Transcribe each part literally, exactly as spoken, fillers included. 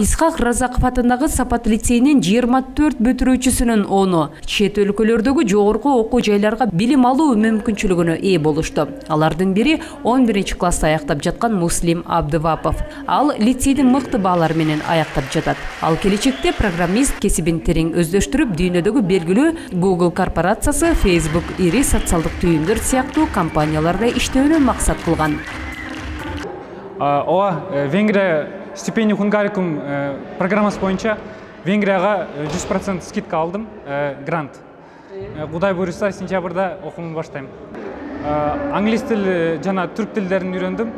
Исхак Разаков атындагы Сапат лицейинин жыйырма төрт бүтүрүүчүсүнүн onu чет өлкөлөрдөгү жогорку окуу жайларга билим алуу мүмкүнчүлүгүнө ээ болушту. Алардын бири он биринчи класста аяктап жаткан Муслим Абдывапов. Ал лицейдин мыкты баалары менен аяктап жатат. Ал келечекте программист кесибин терең өздөштүрүп, дүйнөдөгү белгилүү Google корпорациясы, Facebook, ири социалдык түйүндөр сыяктуу компанияларда иштөөнү максат кылган. Ооба, Венгрия стипендия хунгарикум программасы боюнча Венгрияга жүз процент скидка алдым, грант. Кудай буюрса, сентябрда окуумду баштайм. Англис тили жана түрк тилдерин үйрөндүм.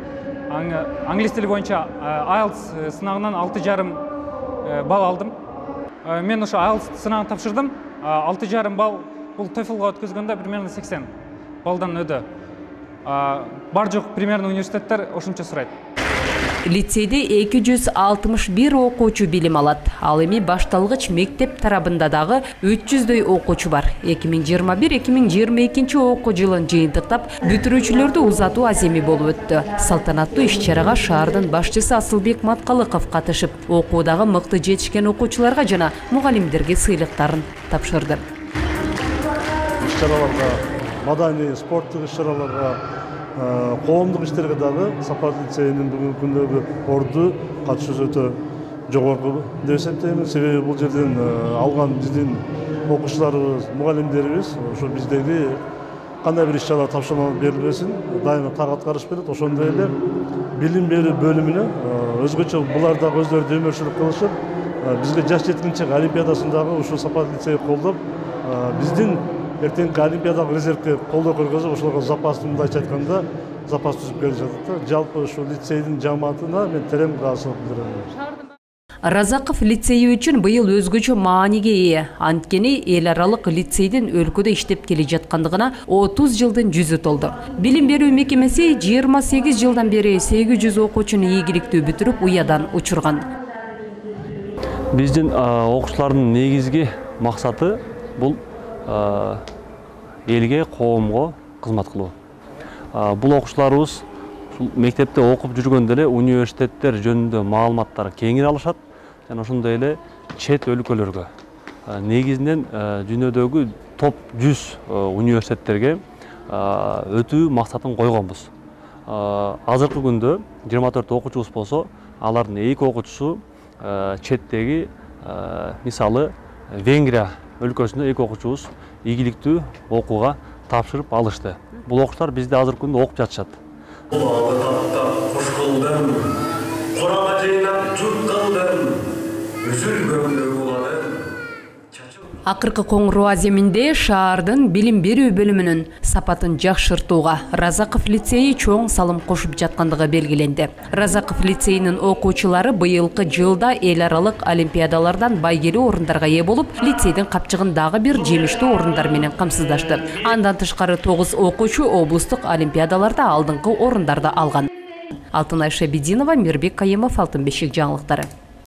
Англис тили боюнча айлтс сынагынан алты жарым балл алдым. Мен ошо айлтс сынагын тапшырдым. алты жарым балл бул TOEFLга өткөзгөндө примерно сексен баллдан өдө. Бар жок примерно университеттер ошончо сурайт. Лицейде эки жүз алтымыш бир окуучу билим алат. Ал эми башталгыч мектеп тарабында дагы үч жүздөй окуучу бар. эки миң жыйырма бир эки миң жыйырма экинчи окуу жылын жыйынтыктап, бүтүрүүчүлөрдү узатуу аземи болуп өттү. Салтанаттуу иш-чарага шаардын башчысы Асылбек Маткалыков катышып, окуудагы мыкты жетишкен окуучуларга жана мугалимдерге сыйлыктарын тапшырды. Иш-чараларга, маданий, спорттук иш-чараларга, коомдук иштерге дагы Сапат лицейинин бүгүнкү күндөгү орду катышуусу өтө жогорку деп эсептейм. Себеби бул жерден алган биздин окуучуларыбыз, мугалимдерибиз ошо биздеги кандай бир иш-чара тапшырма берилбесин, дайыма так аткарыш берет. Ошондой эле билим берүү бөлүмүнө өзгөчө булар дагы өздөрү демөөрчүлүк кылышып, бизге жаш жеткинчек олимпиадасын дагы ушул Сапат лицейи колдоп, биздин эртеңки олимпиадалык резервге колдоо көргөзүп, ошолорго запас, мындайча айтканда, запас түзүп берип жатат. Жалпы ушул лицейдин жамаатына мен терең ыраазычылык билдирем. Разаков лицейи үчүн быйыл өзгөчө мааниге ээ. Анткени эл аралык лицейдин өлкөдө иштеп келе жаткандыгына отуз жылдын жүзү толду. Билим берүү мекемеси жыйырма сегиз жылдан бери сегиз жүз окуучуну ийгиликтүү бүтүрүп, уядан учурган. Биздин окуучулардын негизги максаты бул элге, коомго кызмат кылуу. Бул окуучуларыбыз мектепте окуп жүргөндө эле университеттер жөнүндө маалыматтар кеңири алышат жана ошондой эле чет өлкөлөргө, негизинен дүйнөдөгү топ жүз университеттерге өтүү максатын койгонбуз. Азыркы күндө жыйырма төрт окуучубуз болсо, алардын эки окуучусу четтеги, мисалы Венгрия өлкөсүндө эки окуучубуз ийгиликтүү окууга тапшырып алышты. Бул окуучулар бизде азыркы күндө окуп жатышат. Акыркы коңуроо аземинде шаардын билим берүү бөлүмүнүн сапатын жакшыртууга Разаков лицейи чоң салым кошуп жаткандыгы белгиленди. Разаков лицейинин окуучулары быйылкы жылда эл аралык олимпиадалардан байгелүү орундарга ээ болуп, лицейдин капчыгын дагы бир жемиштүү орундар менен камсыздашты. Андан тышкары тогуз окуучу облустук олимпиадаларда алдыңкы орундарды алган. Алтынай Шабидинова, Мирбек Кайымов, Алтын бешик жаңылыктары.